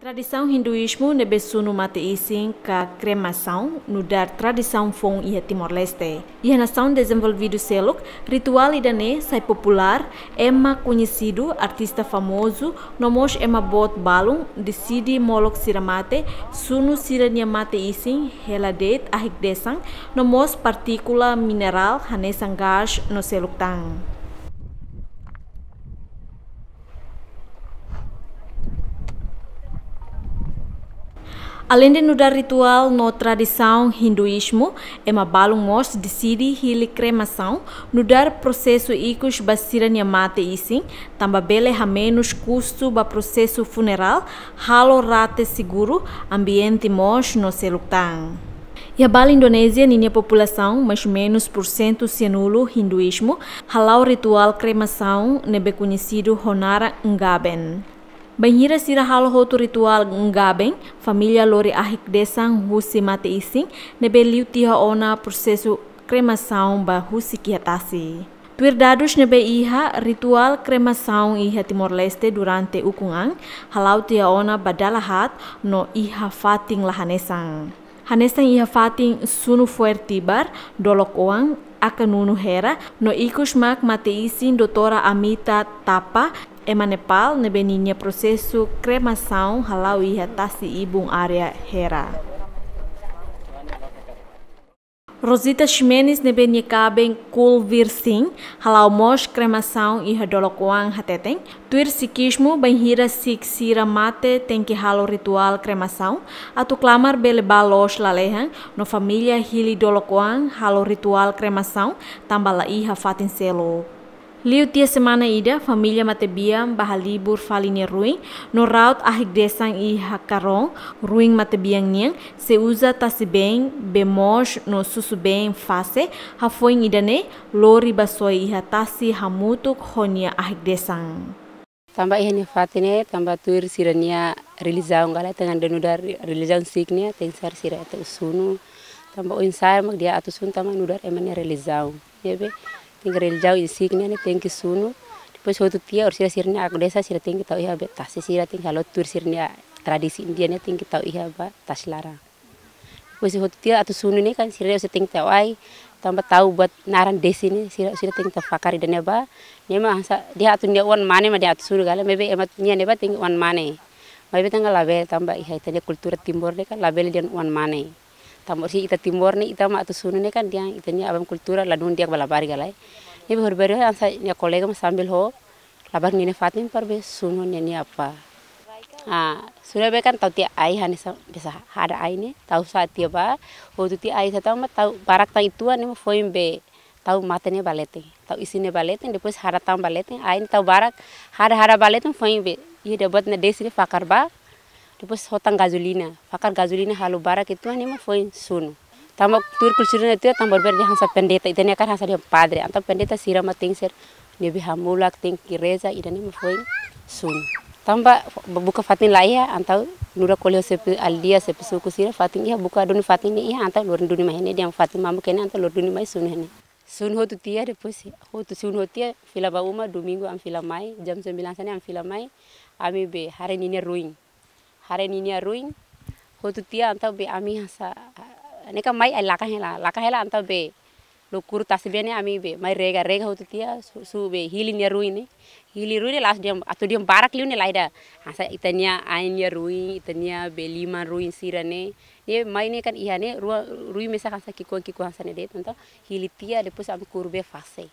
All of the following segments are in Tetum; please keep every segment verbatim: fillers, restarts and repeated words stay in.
Tradisaun Hinduízmu ne'ebé sunu mate-isin ka kremasaun nu'udar tradisaun foun iha Timor-Leste. Iha nasaun dezenvolvidu seluk, rituál ida-ne'e sai populár ema koñesidu, artista famozu, no mós ema boot balun deside molok sira mate, sunu sira-nia mate-isin hela de'it ahik-desan, no mós partíkula minerál hanesan gás no seluk tan. Aleinde nu'udar rituál no tradisaun Hinduízmu, ema balun mós deside hili kremasaun nu'udar prosesu ikus ba sira-nia mate-isin, tanba bele hamenus kustu ba prosesu funerál, halo rate seguru, ambiente mós no seluk tan. Iha Bali, Indonézia, ninia populasaun maizumenus pursentu sianulu Hinduízmu, hala'o rituál kremasaun ne'ebé koñesidu ho naran Ngaben. Bainhira sira halo hotu rituál Ngaben, família lori ahik-desan husi mate-isin ne'ebé liu tiha ona prosesu kremasaun ba husik iha tasi. Tuir dadus ne'ebé iha, rituál kremasaun iha Timor-Leste durante ukun an hala'o tiha ona ba dala haat no iha fatin la hanesan. Hanesan iha fatin Sunu Foer Tibar, Dolok Oan, Aka Nunu Hera, no ikus mak mate-isin Doutora Amita Tapa, ema Nepal, ne'ebé ninia prosesu kremasaun hala'o iha tasi-ibun área Hera. Rosita Ximenes ne'ebé nia kaben Kulvir Singh hala'o mós kremasaun iha Dolok Oan hateten, tuir Sikizmu, bainhira Sikh sira mate tenke halo rituál kremasaun atu klamar bele bá loos lalehan, no família hili Dolok Oan halo rituál kremasaun tanba la iha fatin seluk. Liu tiha semana ida, família matebian bá halibur fali nia ruin, no ra'ut ahik-desan iha karón, ruin matebian nian, sei uza tasi-been, bee moos no susu-been fase hafoin ida-ne'e, lori bá soe iha tasi hamutuk ho nia ahik-desan. Tanba iha nia fatin ne'e, tanba tuir sira-nia relijiaun galai, tenke nu'udar relijiaun Sikh nian, tenke sar sira atu sunu. Tanba oinsá mak di'ak atu sunu, tanba nu'udar ema nia relijiaun. Ne'ebé, tenke relijiaun Sikh nian, tenke sunu. Depois hotu tiha, orsida sira-nia ahik-desan, sira tenke tau iha be tasi, sira tenke halo tuir sira-nia tradisi Índia ne'e, tenke tau iha ba tasi laran. Depois hotu tiha atu sunu ne'e kan, sira orsida tenke tau ai, tanba tau buat naran desi ne'e, sira, sira tenke tau fakar ida-ne'e ba. Ne'e mak hanesan, di'ak atu nia oan mane mak di'ak atu sunu galai, maibé ema nia ne'ebá tenke oan mane. Maibé tenke labele tanba iha ita-nia kultura Timor ne'e kan, labele dehan oan mane. Tanba se ita Timor ne'e, ita mak atu sunu ne'e kan, dehan ita-nia aban kultura ladún di'ak ba labarik galai. Ne'ebé horibainhira hanesan nia kolega mak sambil ho labarik ninia fatin para be sunu nia, nia apá. Ah, sunu be kan tau tiha ai hanesan biasa hada ai ne'e, tau sa'e tiha ba, hotu tiha ai sa'e tau mak tau barak tan uitoan ne'e mak foin be tau mate ne'e ba leten. Tau isin ne'e ba leten, depois hada tan ba leten, ai ne'e tau barak, hada hada ba leten foin be, iha ida buat ne'e desi ne'e fakar ba, depois hotan gazolina, fakar gazolina halo barak uitoan ne'e mak foin sunu. Tanba tuir kultura ne'e tiha, tanba berde hanesan pendeta, ita-nia kan hanesan dehan padre, entaun pendeta sira mak tenke ser ne'ebé hamulak, tenke reza, ida-ne'e mak foin sunu. Tanba buka fatin la iha, entaun nu'udar ko'alia ho xefe aldeia, xefe suku sira, fatin iha buka duni fatin ne'e iha, entaun lori duni mai iha-ne'e, dehan fatin mamuk iha-ne'e, entaun lori duni mai sunu iha-ne'e. Sunu hotu tiha, depois hotu sunu hotu tiha, fila ba uma, domingu ami fila mai, jam sembilan hanesan ne'e ami fila mai, ami be haree ninia ruin. Haree ninia ruin, hotu tiha entaun be ami hanesan, ne'e kan mai ai lakan hela, lakan hela entaun be lokuru tasi-been ne'e ami be mai rega, rega hotu tiha, su, su be hili nia ruin ne'e. Hili ruin ne'e la'ós dehan, atu dehan barak liu ne'e lae ida. Hanesan ita-nia ain nia ruin, ita-nia be liman ruin sira-ne'e. Ne'e mai ne'e kan iha ne'e, rua, ruin mesak hanesan ki'ikoan, ki'ikoan hanesan ne'e de'it, entaun hili tiha, depois ami kuru bee fase.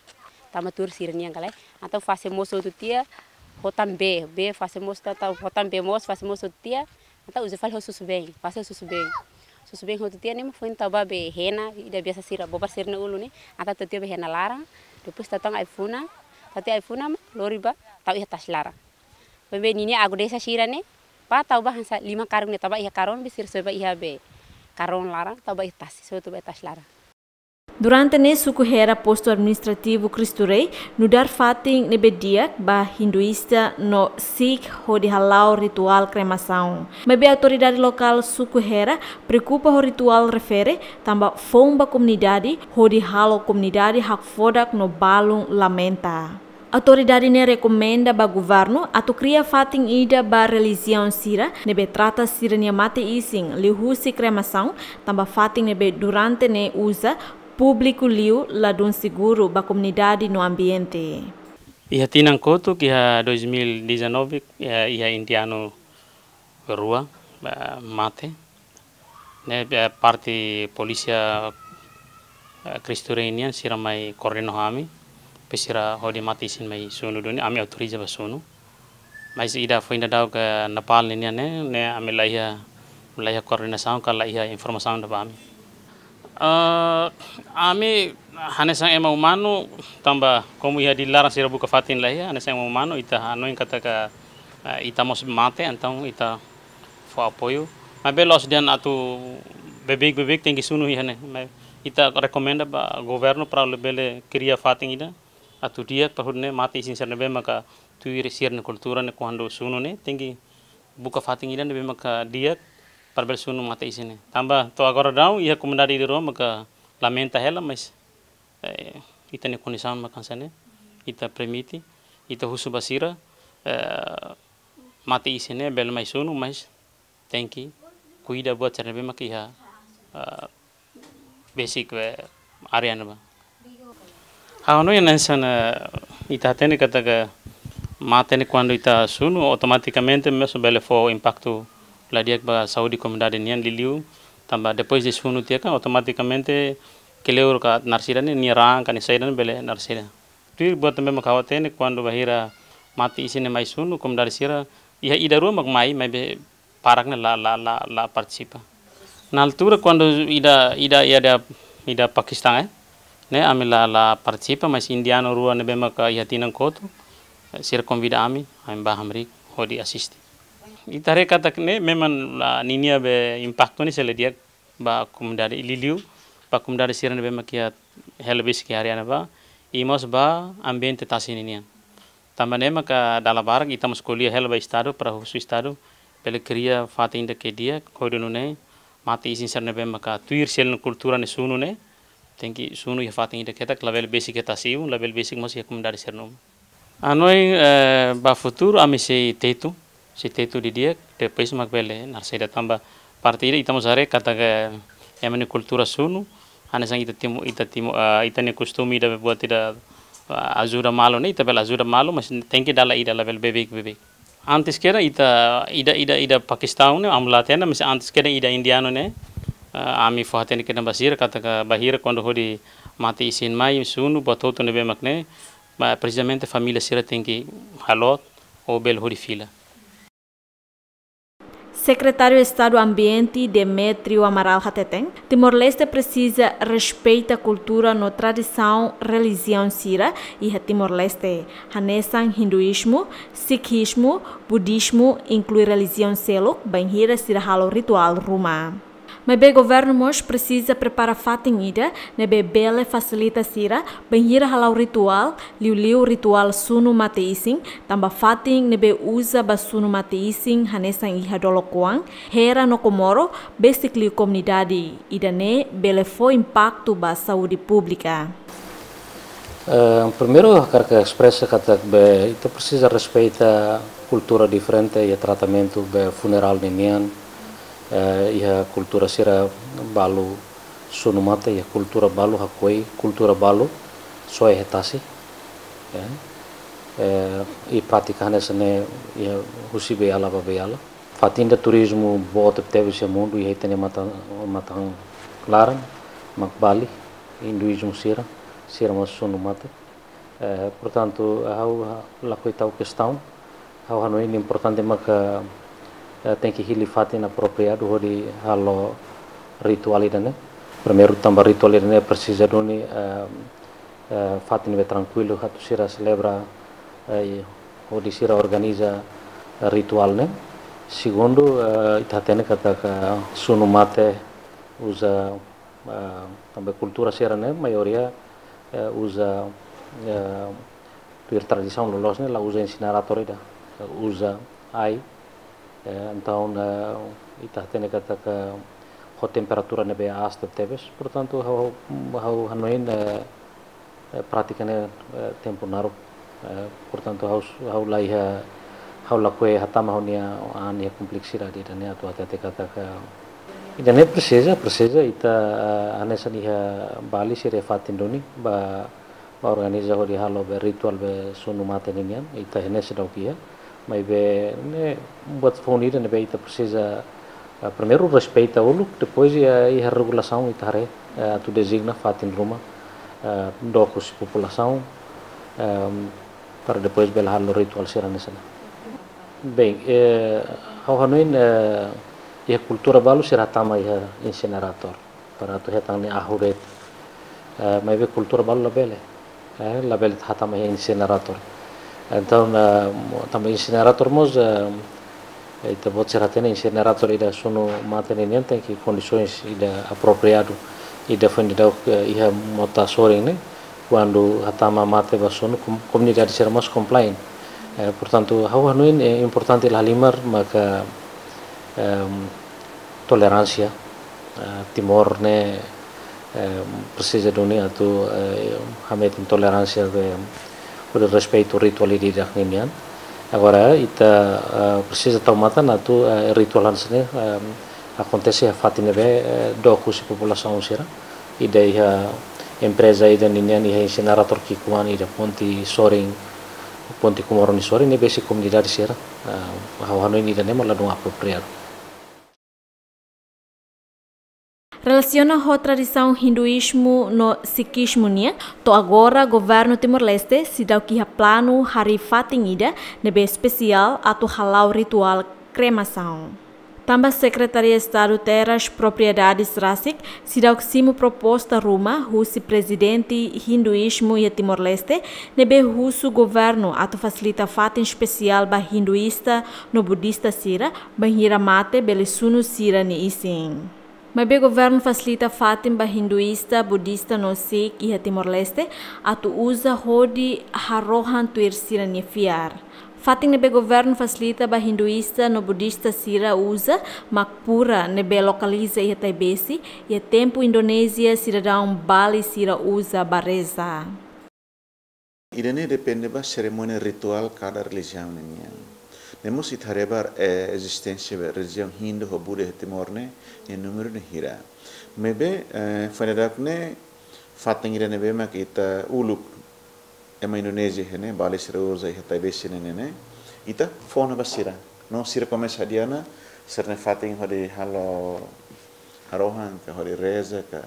Tanba tuir sira-nian galai. Entaun fase moos hotu tiha, hotan bee, bee fase moos ta, ta, hotan bee moos, fase moos hotu tiha, entaun uza fali ho susu-been, fase susu-been. Susu-been hotu tiha ne'e mak foin tau ba be hena, ida biasa sira, bobar sira-nia ulun ne'e, entaun tau tiha be hena laran, depois tau tan ai-funan, tau tiha ai-funan mak lori ba, tau iha tasi laran. Foin be ninia ahik-desan sira-ne'e, ba tau ba hanesan liman karuk ne'e tau ba iha karón, be sira soe ba iha be karón laran, tau ba iha tasi, soe tau ba iha tasi laran. Durante ne'e suku Hera postu administrativu Cristo Rei nu'udar fatin ne'ebé di'ak ba hinduísta no Sikh hodi hala'o rituál kremasaun. Maibé autoridade lokál suku Hera preokupa ho rituál refere tanba foun ba komunidade hodi halo komunidade hakfodak no balun lamenta. Autoridade ne'e rekomenda ba governu atu kria fatin ida ba relijiaun sira ne'ebé trata sira-nia mate-isin liuhusi kremasaun, tanba fatin ne'ebé durante ne'e uza públiku liu ladún seguru ba komunidade no ambiente. Iha tinan kotuk, iha dois mil e dezanove, iha, iha indianu rua, eh, mate. Ne'e, eh, parte polísia, eh, Cristo Rei nian sira mai koordena ho ami, pe sira hodi mate-isin mai sunu duni, ami autoriza ba sunu. Mas ida foin daudauk Nepal nian ne'e, ne'e ami la iha, la iha koordenasaun ka la iha informasaun ida ba ami. Eh, ami hanesan ema umanu, tanba komu iha Dili laran sira buka fatin la iha, hanesan ema umanu ita hanoin katak, eh, ita mós mate, entaun ita fó apoiu. Maibé la'ós dehan atu beibeik-beibeik tenke sunu iha ne'e. Maibé ita rekomenda ba governu para labele kria fatin ida atu di'ak para hodi nune'e mate-isin sira ne'ebé maka tuir sira-nia kultura ne'e kuandu sunu ne'e tenke buka fatin ida ne'ebé maka di'ak para bele sunu mate-isin ne'e. Tanba to'o agora daudaun iha komunidade ida rua maka lamenta hela, mas, eh, ita-nia kondisaun maka hanesan ne'e, ita permite, ita husu ba sira, eh, mate-isin ne'e bele mai sunu, mas tenke kuida buat sira ne'ebé maka iha, eh, besik, eh, área ne'ebá. Ha'u hanoin hanesan, eh, ita hatene katak mate ne'e kuandu ita sunu, automatikamente mós bele fó impaktu la di'ak ba saúde komunidade nian liuliu, tanba depois de sunu tiha kan, automatikamente kleur ka naran sira ne'e, nia raan ka nia saida ne'e bele naran sira. Tuir buat ne'ebé mak ha'u hatene, kuandu bainhira mate-isin ne'e mai sunu, komunidade sira iha ida rua mak mai, maibé barak ne'e la, la, la, la partisipa. Na altura kuandu ida, ida, ida, ida Pakistan, eh, ne'e ami la, la partisipa, mas indianu rua ne'ebé maka iha tinan kotuk, eh, sira konvida ami, ami bá hamriik hodi asiste. Ita haree katak ne'e memang la, ninia be impaktu ne'e sei la di'ak ba komunidade liuliu, ba komunidade sira ne'ebé mak iha hela besik iha área ne'ebá, i mós ba ambiente tasi ninian. Tanba ne'e maka dala barak ita mós ko'alia hela ba Estadu, para husu Estadu bele kria fatin ida ke di'ak, hodi nune'e mate-isin sira ne'ebé maka tuir sira-nia kultura ne'e sunu ne'e, tenke sunu iha fatin ida ketak, labele besik iha tasi-ibun, labele besik mós iha komunidade sira-nia uma. Hanoin, eh, ba futuru ami sei tetu, sei tetu didi'ak, depois mak bele naran saida, tanba parte ida ita mós haree katak ema nia kultura sunu, hanesan ita Timo-, ita Timo-, eh, ita-nia kostume ida buat ida, eh, ajuda malu ne'e, ita bele ajuda malu, mas tenke dala ida, labele beibeik-beibeik. Antes kedas ita, ida, ida, ida Pakistan ne'e, ami la hatene, mas antes kedas ida indianu ne'e, eh, ami fó hatene kedas ba sira, katak bainhira kuandu hodi mate-isin mai sunu, buat hotu ne'ebé mak ne'e, ba, precisamente família sira tenke halot ou bele hodi fila. Sekretáriu Estadu Ambiente, Demetrio Amaral hateten, Timor-Leste presiza respeita kultura no tradisaun relijiaun sira iha Timor-Leste, hanesan hinduízmu, sikhismu, budismu, inklui relijiaun seluk, bainhira sira halo rituál ruma. Maibé governu mós presiza prepara fatin ida ne'ebé bele fasilita sira bainhira hala'o rituál, liuliu rituál sunu mate-isin, tanba fatin ne'ebé uza ba sunu mate-isin hanesan iha Dolokoan, Hera no Komoro, besik liu komunidade, ida-ne'e bele fó impaktu ba saúde públika. Eh, primeiru, hakarak espresa katak be, ita presiza respeita kultura diferente iha tratamentu be funerál ninian, eh, iha kultura sira balu sunu mate, iha kultura balu hakoi, kultura balu soe iha tasi. Ya. Eh, i prátika hanesan ne'e iha husi beiala ba beiala. Fatin ida turizmu boot tebes iha mundu, iha ita-nia matan, matan laran, mak Bali, hinduízmu sira, sira mós sunu mate. Eh, portantu, ha'u, ha-, lakohi tau kestaun, ha'u hanoin importante maka, eh, tenke hili fatin apropriadu hodi halo rituál ida-ne'e. Primeiru, tanba rituál ida-ne'e presiza duni, eh, eh, fatin ne'ebé trankuilu atu sira selebra, eh, hodi sira organiza rituál ne'e. Segundu, eh, ita hatene katak sunu mate uza, eh, tanba kultura sira-ne'e maioria, eh, uza, eh, tuir tradisaun loloos ne'e la uza insineratór ida, eh, uza ai. Eh, entaun, eh, ita hatene katak ho temperatura ne'ebé aas tebetebes. Portantu, ha'u, ha'u hanoin, eh, eh, prátika ne'e, eh, tempu naruk Eh, portantu, ha'u, ha'u la iha, ha'u lakohi hatama ha'u-nia an iha kompleksidade ida-ne'e atu hatete katak ida-ne'e presiza, presiza ita, eh, hanesan iha Bali sira fatin duni ba, ba organiza hodi halo be rituál be sunu mate ninian, ita iha ne'e seidauk iha. Maibé ne'e buat foun ida ne'ebé ita presiza, eh, primeiru respeita uluk, depois iha, iha regulasaun ita haree, eh, atu dezigna fatin ruma, eh, dook husi populasaun, ehm, para depois bele halo rituál sira hanesan ne'e. Bem, eh, ha'u hanoin, eh, iha kultura balu sira hatama iha insineratór para atu hetan nia ahu de'it. Eh, maibé kultura balu labele. Eh, labele hatama iha insineratór. Entaun, eh, mo-, tanba insineratór mós, eh, ita-boot sira hatene insineratór ida sunu mate ninian tenke kondisoens ida apropriadu, ida foin daudauk, eh, iha mota sorin ne'e, kuandu hatama mate ba sunu, kom-, komunidade sira mós complain. Eh, portantu, ha'u hanoin, eh, importante la halimar maka, ehm, toleránsia, eh, Timor ne'e, eh, presiza duni atu, eh, hametin toleránsia be, hodi respeitu rituál ida-idak ninian. Agora, ita, eh, presiza tau matan atu, eh, rituál hanesan ne'e, eh, akontese iha fatin ne'ebé, eh, dook husi populasaun sira. Ida iha empreza ida ninian iha insineratór ki'ikoan ida ponte sorin, ponte Comoro nia sorin ne'ebé husi komunidade sira. Eh, ha'u hanoin ida-ne'e mak ladún apropriadu. Relasiona ho tradisaun Hinduízmu no Sikhismu nian, to'o agora governu Timor-Leste seidauk iha planu harii fatin ida ne'ebé espesiál atu hala'o rituál kremasaun. Tanba Sekretaria Estadu Terras Propriedades rasik seidauk simu proposta ruma husi prezidente Hinduízmu iha Timor-Leste, ne'ebé husu governu atu fasilita fatin espesiál ba hinduísta no budista sira, bainhira mate bele sunu sira-nia isin. Maibé governu fasilita fatin ba hinduísta, budista no Sikh iha Timor-Leste atu uza hodi harohan tuir sira-nia fiar. Fatin ne'ebé governu fasilita ba hinduísta no budista sira uza mak pura, ne'ebé lokaliza iha Taibesi, iha tempu Indonézia sidadaun Bali sira uza ba reza. Ida-ne'e depende ba serimónia rituál kada relijiaun ninian. Ne'e mós ita haree ba, eh, ezisténsia ba relijiaun Hindu ho Buda iha Timor ne'e, nia númeru ne'e hira. Maibé, eh, foin daudauk ne'e, fatin ida ne'ebé mak ita uluk ema Indonézia iha ne'e, Bali sira uza iha Taibesi ne'e, ne'e, ne'e, ita fó ona ba sira. No sira komesa hadi'a ona, sira-nia fatin hodi halo harohan ka hodi reza ka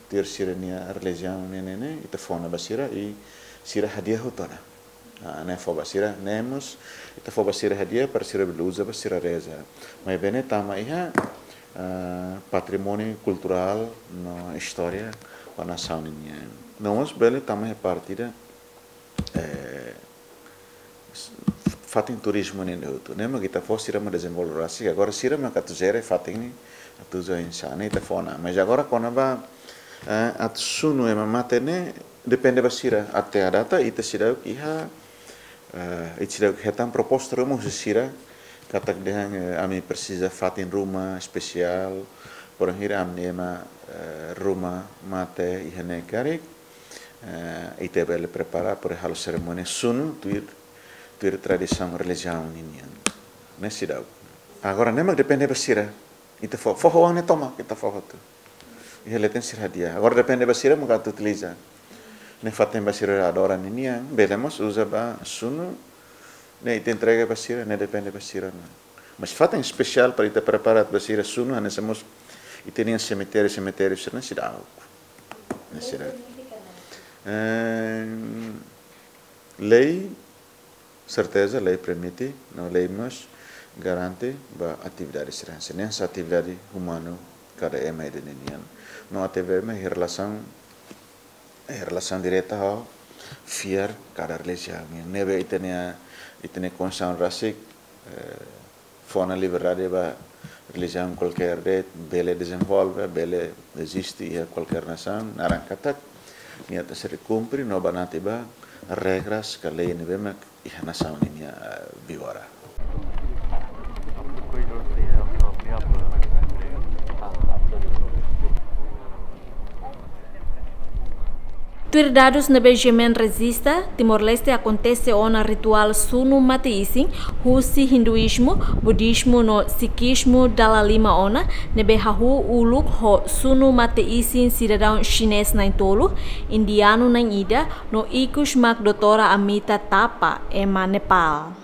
tuir sira-nia relijiaun ne'e, ne'e, ne'e, ita fó ona ba sira i sira hadi'a hotu ona. Ah, ne'e fó ba sira, ne'e mós ita fó ba sira hadi'a para sira bele uza ba sira reza. Maibé ne'e tama iha, ah, patrimóniu kulturál no istória ba nasaun ninian. No mós bele tama iha parte ida, eh, fatin turizmu nian hotu. Ne'e mak ita fó sira mak dezenvolve rasik, agora sira mak atu jere fatin ne'e, atu uza oinsá ne'e ita fó ona. Mas agora kona-ba, eh, atu sunu ema mate ne'e depende ba sira. Até à data ita seidauk iha, eh, ita seidauk hetan proposta ruma husi sira katak dehan, eh, ami presiza fatin ruma espesiál, porém hira ami ema, eh, ruma mate iha ne'e karik, eh, ita bele prepara para halo serimónia sunu tuir, tuir tradisaun relijiaun ninian. Ne'e seidauk. Agora ne'e mak depende ba sira. Ita fó, fó oan ne'e tomak, ita fó hotu. Iha leten sira hadi'a. Agora depende ba sira mak atu utiliza. Ne'e fatin ba sira adora ninian, bele mós uza ba sunu, ne'e ita entrega ba sira, ne'e depende ba sira ona. Mas fatin espesiál para ita prepara ba sira sunu, hanesan mós ita-nia semitériu, semitériu sira ne'e seidauk. Ne'e seidauk. Eh, lei, serteza, lei permite, no lei mós garante ba atividade sira hanesan ne'e, hanesan atividade umanu kada ema ida ninian. No atividade mak iha relasaun, iha relasaun direta ho fiar kada relijiaun. Ne'ebé ita-nia, ita-nia konstituisaun rasik, eh, fó ona liberdade ba relijiaun kualkér de'it bele dezenvolve, bele eziste iha kualkér nasaun, naran katak nia atu sira kumpre no banati ba regras ka lei ne'ebé mak iha nasaun ninia, eh, vigora. Tuir dadus ne'ebé GMN rejista, Timor-Leste akontese ona rituál sunu mate-isin husi Hinduízmu, Budismu no Sikismu dala lima ona, ne'ebé hahú uluk ho sunu mate-isin sidadaun xinés na'in-tolu, indianu na'in-ida no ikus mak Doutora Amita Thapa, ema Nepal.